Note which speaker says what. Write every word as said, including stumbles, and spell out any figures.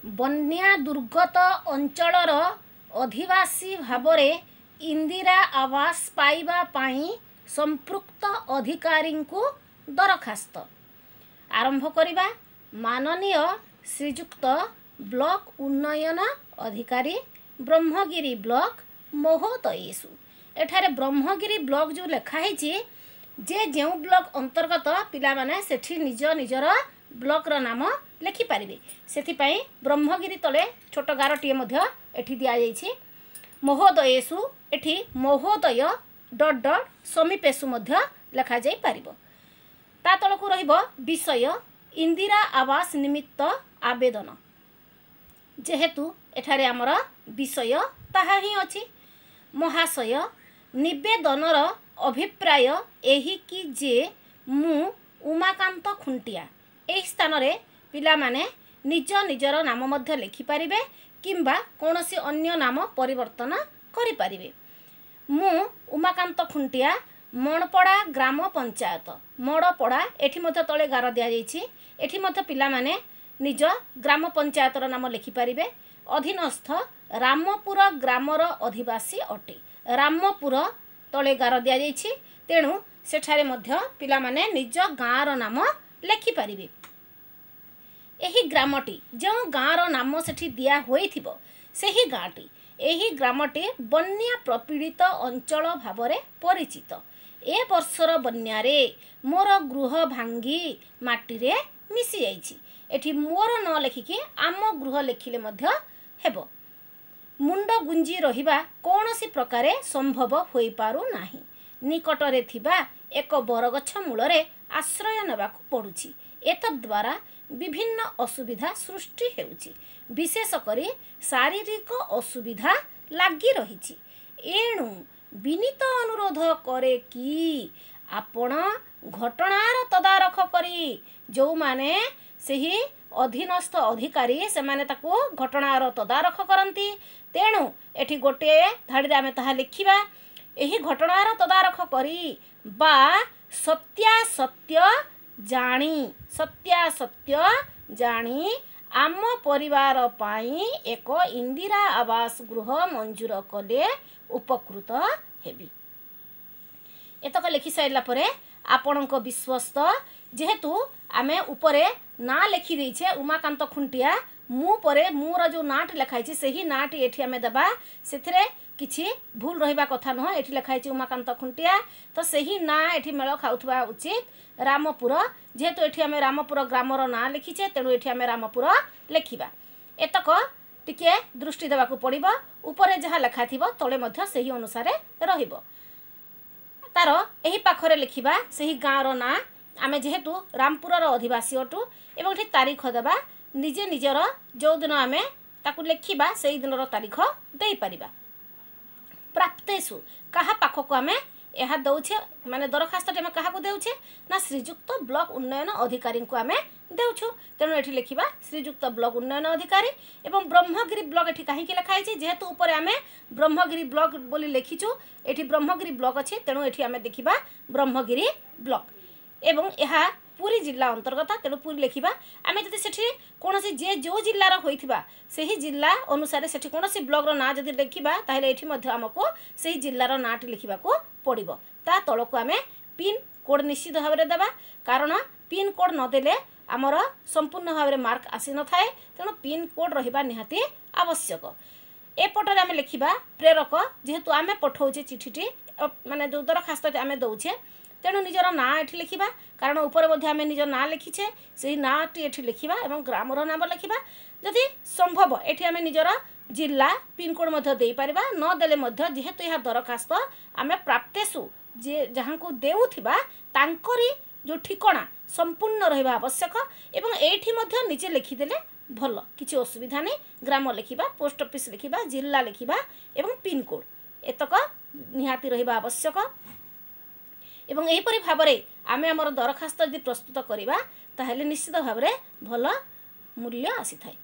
Speaker 1: ବନ୍ୟା ଦୁର୍ଗତ ଅଞ୍ଚଳର ଅଧିବାସୀ ଭାବରେ ଇନ୍ଦିରା ଆବାସ ପାଇବା ପାଇଁ ସମ୍ପୃକ୍ତ ଅଧିକାରୀଙ୍କୁ ଦରଖାସ୍ତ। ଆରମ୍ଭ କରିବା। ମାନନୀୟ ଶ୍ରୀଯୁକ୍ତ ବ୍ଲକ ଉନ୍ନୟନ ଅଧିକାରୀ, ବ୍ରହ୍ମଗିରି ବ୍ଲକ ମହୋଦୟେଷୁ। ଏଠାରେ ବ୍ରହ୍ମଗିରି ବ୍ଲକ ଯେଉଁ ଲେଖା ହେଇଛି, ଯେ ଯେଉଁ ବ୍ଲକ ଅନ୍ତର୍ଗତ ପିଲାମାନେ ସେଠି ନିଜ ନିଜର ବ୍ଲକର ନାମ ଲେଖିପାରିବେ। ସେଥିପାଇଁ ବ୍ରହ୍ମଗିରି ତଳେ ଛୋଟ ଗାରଟିଏ ମଧ୍ୟ ଏଠି ଦିଆଯାଇଛି। ମହୋଦୟେଷୁ, ଏଠି ମହୋଦୟ ଡଟ୍ ଡଟ୍ ସମୀପେଷୁ ମଧ୍ୟ ଲେଖାଯାଇପାରିବ। ତା ତଳକୁ ରହିବ ବିଷୟ, ଇନ୍ଦିରା ଆବାସ ନିମିତ୍ତ ଆବେଦନ। ଯେହେତୁ ଏଠାରେ ଆମର ବିଷୟ ତାହା ହିଁ ଅଛି। ମହାଶୟ, ନିବେଦନର ଅଭିପ୍ରାୟ ଏହି କି ଯେ ମୁଁ ଉମାକାନ୍ତ ଖୁଣ୍ଟିଆ। ଏହି ସ୍ଥାନରେ ପିଲାମାନେ ନିଜ ନିଜର ନାମ ମଧ୍ୟ ଲେଖିପାରିବେ କିମ୍ବା କୌଣସି ଅନ୍ୟ ନାମ ପରିବର୍ତ୍ତନ କରିପାରିବେ। ମୁଁ ଉମାକାନ୍ତ ଖୁଣ୍ଟିଆ, ମଣପଡ଼ା ଗ୍ରାମ ପଞ୍ଚାୟତ, ମଡ଼ପଡ଼ା, ଏଠି ମଧ୍ୟ ତଳେ ଗାର ଦିଆଯାଇଛି। ଏଠି ମଧ୍ୟ ପିଲାମାନେ ନିଜ ଗ୍ରାମ ପଞ୍ଚାୟତର ନାମ ଲେଖିପାରିବେ। ଅଧୀନସ୍ଥ ରାମପୁର ଗ୍ରାମର ଅଧିବାସୀ ଅଟେ। ରାମପୁର ତଳେ ଗାର ଦିଆଯାଇଛି, ତେଣୁ ସେଠାରେ ମଧ୍ୟ ପିଲାମାନେ ନିଜ ଗାଁର ନାମ ଲେଖିପାରିବେ। ଏହି ଗ୍ରାମଟି, ଯେଉଁ ଗାଁର ନାମ ସେଠି ଦିଆ ହୋଇଥିବ ସେହି ଗାଁଟି, ଏହି ଗ୍ରାମଟି ବନ୍ୟା ପ୍ରପୀଡ଼ିତ ଅଞ୍ଚଳ ଭାବରେ ପରିଚିତ। ଏ ବର୍ଷର ବନ୍ୟାରେ ମୋର ଗୃହ ଭାଙ୍ଗି ମାଟିରେ ମିଶିଯାଇଛି। ଏଠି ମୋର ନ ଲେଖିକି ଆମ ଗୃହ ଲେଖିଲେ ମଧ୍ୟ ହେବ। ମୁଣ୍ଡ ଗୁଞ୍ଜି ରହିବା କୌଣସି ପ୍ରକାରେ ସମ୍ଭବ ହୋଇପାରୁନାହିଁ। ନିକଟରେ ଥିବା ଏକ ବରଗଛ ମୂଳରେ ଆଶ୍ରୟ ନେବାକୁ ପଡ଼ୁଛି। ଏତଦ୍ୱାରା ବିଭିନ୍ନ ଅସୁବିଧା ସୃଷ୍ଟି ହେଉଛି, ବିଶେଷ କରି ଶାରୀରିକ ଅସୁବିଧା ଲାଗି ରହିଛି। ଏଣୁ ବିନୀତ ଅନୁରୋଧ କରେ କି ଆପଣ ଘଟଣାର ତଦାରଖ କରି, ଯେଉଁମାନେ ସେହି ଅଧୀନସ୍ଥ ଅଧିକାରୀ ସେମାନେ ତାକୁ ଘଟଣାର ତଦାରଖ କରନ୍ତି, ତେଣୁ ଏଠି ଗୋଟିଏ ଧାଡ଼ିରେ ଆମେ ତାହା ଲେଖିବା। ଏହି ଘଟଣାର ତଦାରଖ କରି ବା ସତ୍ୟାସତ୍ୟ ଜାଣି, ସତ୍ୟାସତ୍ୟ ଜାଣି ଆମ ପରିବାର ପାଇଁ ଏକ ଇନ୍ଦିରା ଆବାସ ଗୃହ ମଞ୍ଜୁର କଲେ ଉପକୃତ ହେବି। ଏତକ ଲେଖି ସାରିଲା ପରେ ଆପଣଙ୍କ ବିଶ୍ୱସ୍ତ, ଯେହେତୁ ଆମେ ଉପରେ ନାଁ ଲେଖିଦେଇଛେ ଉମାକାନ୍ତ ଖୁଣ୍ଟିଆ, ମୁଁ ପରେ ମୋର ଯେଉଁ ନାଁଟି ଲେଖା ହେଇଛି ସେହି ନାଁଟି ଏଠି ଆମେ ଦେବା। ସେଥିରେ କିଛି ଭୁଲ ରହିବା କଥା ନୁହଁ। ଏଠି ଲେଖା ହେଇଛି ଉମାକାନ୍ତ ଖୁଣ୍ଟିଆ, ତ ସେହି ନାଁ ଏଠି ମେଳ ଖାଉଥିବା ଉଚିତ। ରାମପୁର, ଯେହେତୁ ଏଠି ଆମେ ରାମପୁର ଗ୍ରାମର ନାଁ ଲେଖିଛେ, ତେଣୁ ଏଠି ଆମେ ରାମପୁର ଲେଖିବା। ଏତକ ଟିକେ ଦୃଷ୍ଟି ଦେବାକୁ ପଡ଼ିବ। ଉପରେ ଯାହା ଲେଖା ଥିବ ତଳେ ମଧ୍ୟ ସେହି ଅନୁସାରେ ରହିବ। ତାର ଏହି ପାଖରେ ଲେଖିବା ସେହି ଗାଁର ନାଁ, ଆମେ ଯେହେତୁ ରାମପୁରର ଅଧିବାସୀ ଅଟୁ, ଏବଂ ଏଠି ତାରିଖ ଦେବା। ନିଜେ ନିଜର ଯେଉଁଦିନ ଆମେ ତାକୁ ଲେଖିବା ସେଇ ଦିନର ତାରିଖ ଦେଇପାରିବା। ପ୍ରାପ୍ତେଷୁ, କାହା ପାଖକୁ ଆମେ ଏହା ଦେଉଛେ, ମାନେ ଦରଖାସ୍ତଟି ଆମେ କାହାକୁ ଦେଉଛେ ନା ଶ୍ରୀଯୁକ୍ତ ବ୍ଲକ ଉନ୍ନୟନ ଅଧିକାରୀଙ୍କୁ ଆମେ ଦେଉଛୁ। ତେଣୁ ଏଠି ଲେଖିବା ଶ୍ରୀଯୁକ୍ତ ବ୍ଲକ ଉନ୍ନୟନ ଅଧିକାରୀ। ଏବଂ ବ୍ରହ୍ମଗିରି ବ୍ଲକ ଏଠି କାହିଁକି ଲେଖା ହେଇଛି? ଯେହେତୁ ଉପରେ ଆମେ ବ୍ରହ୍ମଗିରି ବ୍ଲକ ବୋଲି ଲେଖିଛୁ, ଏଠି ବ୍ରହ୍ମଗିରି ବ୍ଲକ ଅଛି, ତେଣୁ ଏଠି ଆମେ ଦେଖିବା ବ୍ରହ୍ମଗିରି ବ୍ଲକ, ଏବଂ ଏହା ପୁରୀ ଜିଲ୍ଲା ଅନ୍ତର୍ଗତ, ତେଣୁ ପୁରୀ ଲେଖିବା। ଆମେ ଯଦି ସେଠି କୌଣସି ଯିଏ ଯେଉଁ ଜିଲ୍ଲାର ହୋଇଥିବା ସେହି ଜିଲ୍ଲା ଅନୁସାରେ ସେଠି କୌଣସି ବ୍ଲକର ନାଁ ଯଦି ଲେଖିବା, ତାହେଲେ ଏଠି ମଧ୍ୟ ଆମକୁ ସେହି ଜିଲ୍ଲାର ନାଁଟି ଲେଖିବାକୁ ପଡ଼ିବ। ତା ତଳକୁ ଆମେ ପିନ୍ କୋଡ଼୍ ନିଶ୍ଚିତ ଭାବରେ ଦେବା, କାରଣ ପିନ୍ କୋଡ଼୍ ନଦେଲେ ଆମର ସମ୍ପୂର୍ଣ୍ଣ ଭାବରେ ମାର୍କ ଆସିନଥାଏ। ତେଣୁ ପିନ୍ କୋଡ଼୍ ରହିବା ନିହାତି ଆବଶ୍ୟକ। ଏପଟରେ ଆମେ ଲେଖିବା ପ୍ରେରକ, ଯେହେତୁ ଆମେ ପଠାଉଛେ ଚିଠିଟି, ମାନେ ଯେଉଁ ଦରଖାସ୍ତଟି ଆମେ ଦେଉଛେ, ତେଣୁ ନିଜର ନାଁ ଏଠି ଲେଖିବା, କାରଣ ଉପରେ ମଧ୍ୟ ଆମେ ନିଜ ନାଁ ଲେଖିଛେ, ସେହି ନାଁଟି ଏଠି ଲେଖିବା ଏବଂ ଗ୍ରାମର ନାମ ଲେଖିବା। ଯଦି ସମ୍ଭବ ଏଠି ଆମେ ନିଜର ଜିଲ୍ଲା ପିନ୍କୋଡ଼୍ ମଧ୍ୟ ଦେଇପାରିବା, ନଦେଲେ ମଧ୍ୟ ଯେହେତୁ ଏହା ଦରଖାସ୍ତ ଆମେ ପ୍ରାପ୍ତେଷୁ ଯିଏ ଯାହାଙ୍କୁ ଦେଉଥିବା ତାଙ୍କରି ଯେଉଁ ଠିକଣା ସମ୍ପୂର୍ଣ୍ଣ ରହିବା ଆବଶ୍ୟକ, ଏବଂ ଏଇଠି ମଧ୍ୟ ନିଜେ ଲେଖିଦେଲେ ଭଲ, କିଛି ଅସୁବିଧା ନାହିଁ। ଗ୍ରାମ ଲେଖିବା, ପୋଷ୍ଟ ଅଫିସ୍ ଲେଖିବା, ଜିଲ୍ଲା ଲେଖିବା ଏବଂ ପିନ୍କୋଡ଼୍ ଏତକ ନିହାତି ରହିବା ଆବଶ୍ୟକ। ଏବଂ ଏହିପରି ଭାବରେ ଆମେ ଆମର ଦରଖାସ୍ତ ଯଦି ପ୍ରସ୍ତୁତ କରିବା, ତାହେଲେ ନିଶ୍ଚିତ ଭାବରେ ଭଲ ମୂଲ୍ୟ ଆସିଥାଏ।